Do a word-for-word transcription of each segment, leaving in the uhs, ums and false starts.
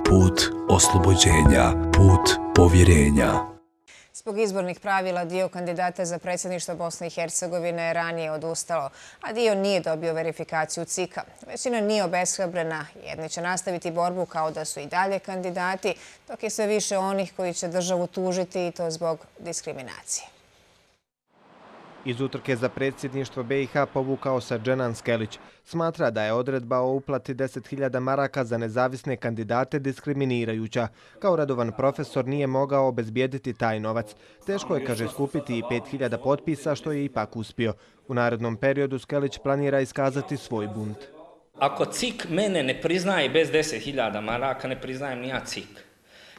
put oslobođenja, put povjerenja. Zbog izbornih pravila dio kandidata za predsjedništvo Bosne i Hercegovine je ranije odustalo, a dio nije dobio verifikaciju C I K-a. Većina nije obeshrabrena, jedni će nastaviti borbu kao da su i dalje kandidati, dok je sve više onih koji će državu tužiti i to zbog diskriminacije. Iz utrke za predsjedništvo B i H povukao se Dženan Skelić. Smatra da je odredba o uplati deset hiljada maraka za nezavisne kandidate diskriminirajuća. Kao redovan profesor nije mogao obezbijediti taj novac. Teško je, kaže, skupiti i pet hiljada potpisa, što je ipak uspio. U narednom periodu Skelić planira iskazati svoj bunt. Ako C I K mene ne priznaje bez deset hiljada maraka, ne priznajem ni ja C I K.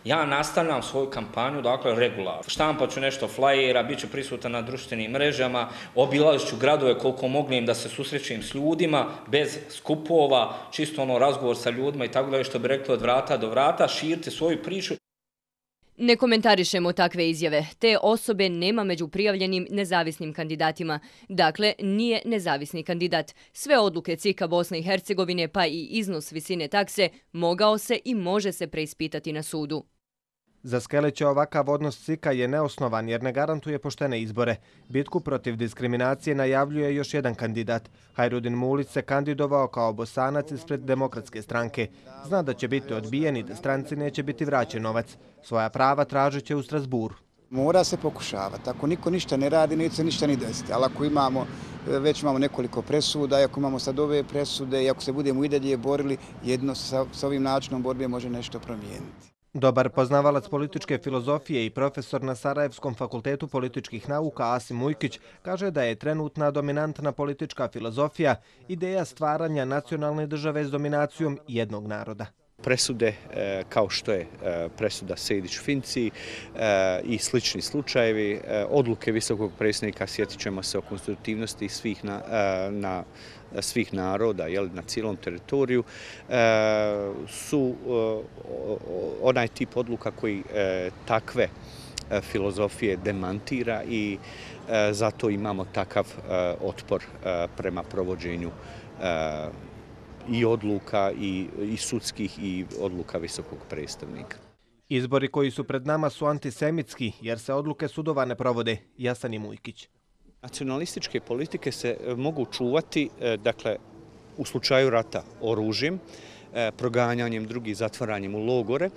Ja nastavljam svoju kampanju, dakle, regularno. Štampat ću nešto flajera, bit ću prisutan na društvenim mrežama, obilazit ću gradove koliko mognem da se susrećem s ljudima, bez skupova, čisto ono razgovor sa ljudima i tako da što bi rekli od vrata do vrata, širite svoju priču. Ne komentarišemo takve izjave. Te osobe nema među prijavljenim nezavisnim kandidatima. Dakle, nije nezavisni kandidat. Sve odluke C I K-a Bosne i Hercegovine, pa i iznos visine takse, mogao se i može se preispitati na sudu. Za Skelića ovakav odnos C I K-a je neosnovan jer ne garantuje poštene izbore. Bitku protiv diskriminacije najavljuje još jedan kandidat. Hajrudin Mulić se kandidovao kao Bosanac ispred Demokratske stranke. Zna da će biti odbijen i da stranci neće biti vraćen novac. Svoja prava tražit će u Strasburu. Mora se pokušavati. Ako niko ništa ne radi, neće se ništa ni desiti. Ali ako imamo, već imamo nekoliko presuda, i ako imamo sad ove presude, i ako se budemo i dalje borili, jedno sa, sa ovim načinom borbe može nešto promijeniti. Dobar poznavalac političke filozofije i profesor na Sarajevskom fakultetu političkih nauka Asim Ujkić kaže da je trenutna dominantna politička filozofija ideja stvaranja nacionalne države s dominacijom jednog naroda. Presude kao što je presuda Sejdić-Finci i slični slučajevi, odluke visokog predsjednika, sjetit ćemo se o konstitutivnosti svih, na, na, svih naroda jel, na cijelom teritoriju, su onaj tip odluka koji takve filozofije demantira i zato imamo takav otpor prema provođenju i odluka i, i sudskih i odluka visokog predstavnika. Izbori koji su pred nama su antisemitski jer se odluke sudova ne provode. Jasan Mujkić. Nacionalističke politike se mogu čuvati, dakle, u slučaju rata oružjem, proganjanjem drugih, zatvaranjem u logore,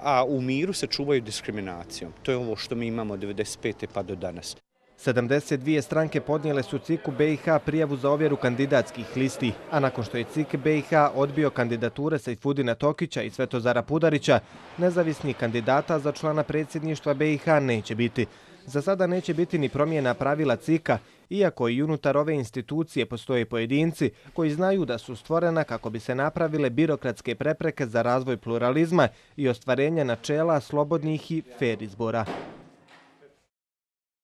a u miru se čuvaju diskriminacijom. To je ovo što mi imamo od devedeset pete pa do danas. sedamdeset dvije stranke podnijele su C I K-u B i H prijavu za ovjeru kandidatskih listi, a nakon što je C I K B i H odbio kandidature Sejfudina Tokića i Svetozara Pudarića, nezavisnih kandidata za člana predsjedništva B i H neće biti. Za sada neće biti ni promjena pravila C I K-a, iako i unutar ove institucije postoje pojedinci koji znaju da su stvorena kako bi se napravile birokratske prepreke za razvoj pluralizma i ostvarenje načela slobodnih i fer izbora.